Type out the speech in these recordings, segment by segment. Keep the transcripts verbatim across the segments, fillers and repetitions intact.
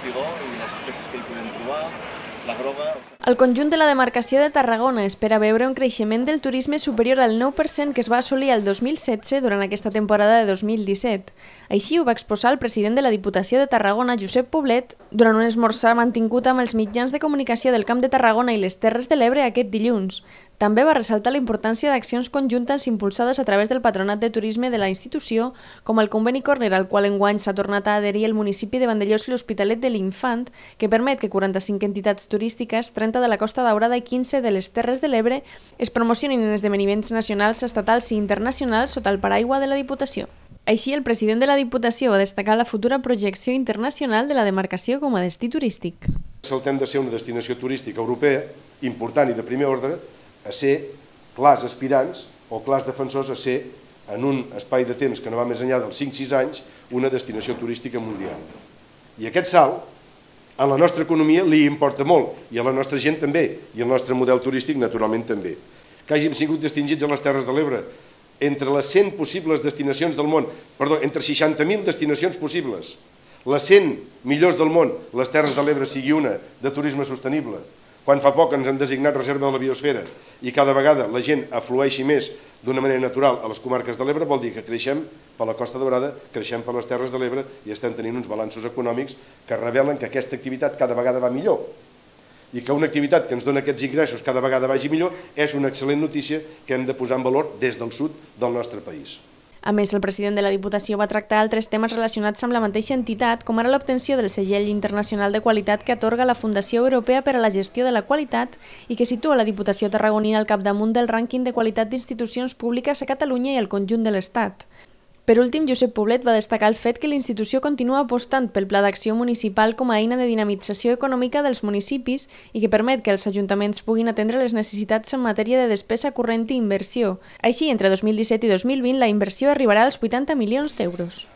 espigó i les espècies que hi podem trobar, la groga... El conjunt de la demarcació de Tarragona espera veure un creixement del turisme superior al nou per cent que es va assolir el dos mil setze durant aquesta temporada de dos mil disset. Així ho va exposar el president de la Diputació de Tarragona, Josep Poblet, durant un esmorzar mantingut amb els mitjans de comunicació del Camp de Tarragona i les Terres de l'Ebre aquest dilluns. També va ressaltar la importància d'accions conjuntes impulsades a través del Patronat de Turisme de la institució, com el conveni Corner, al qual enguany s'ha tornat a adherir el municipi de Vandellòs i l'Hospitalet de l'Infant, que permet que quaranta-cinc entitats turístiques, trenta de la Costa Daurada i quinze de les Terres de l'Ebre, es promocionin en esdeveniments nacionals, estatals i internacionals sota el paraigua de la Diputació. Així, el president de la Diputació va destacar la futura projecció internacional de la demarcació com a destí turístic. Saltem de ser una destinació turística europea important i de primer ordre a ser clars aspirants o clars defensors a ser, en un espai de temps que no va més enllà dels cinc sis anys, una destinació turística mundial. I aquest salt, a la nostra economia li importa molt, i a la nostra gent també, i al nostre model turístic naturalment també. Que hàgim sigut distingits a les Terres de l'Ebre entre les cent possibles destinacions del món, perdó, entre seixanta mil destinacions possibles, les cent millors del món, les Terres de l'Ebre sigui una de turisme sostenible, quan fa poc ens han designat reserva de la biosfera i cada vegada la gent aflueixi més d'una manera natural a les comarques de l'Ebre, vol dir que creixem per la Costa Daurada, creixem per les Terres de l'Ebre i estem tenint uns balanços econòmics que revelen que aquesta activitat cada vegada va millor. I que una activitat que ens dona aquests ingressos cada vegada vagi millor és una excel·lent notícia que hem de posar en valor des del sud del nostre país. A més, el president de la Diputació va tractar altres temes relacionats amb la mateixa entitat, com ara l'obtenció del segell internacional de qualitat que atorga la Fundació Europea per a la Gestió de la Qualitat i que situa la Diputació tarragonina al capdamunt del rànquing de qualitat d'institucions públiques a Catalunya i al conjunt de l'Estat. Per últim, Josep Poblet va destacar el fet que l'institució continua apostant pel Pla d'Acció Municipal com a eina de dinamització econòmica dels municipis i que permet que els ajuntaments puguin atendre les necessitats en matèria de despesa corrent i inversió. Així, entre dos mil disset i dos mil vint, la inversió arribarà als vuitanta milions d'euros.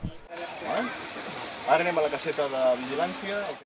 Ara anem a la caseta de vigilància.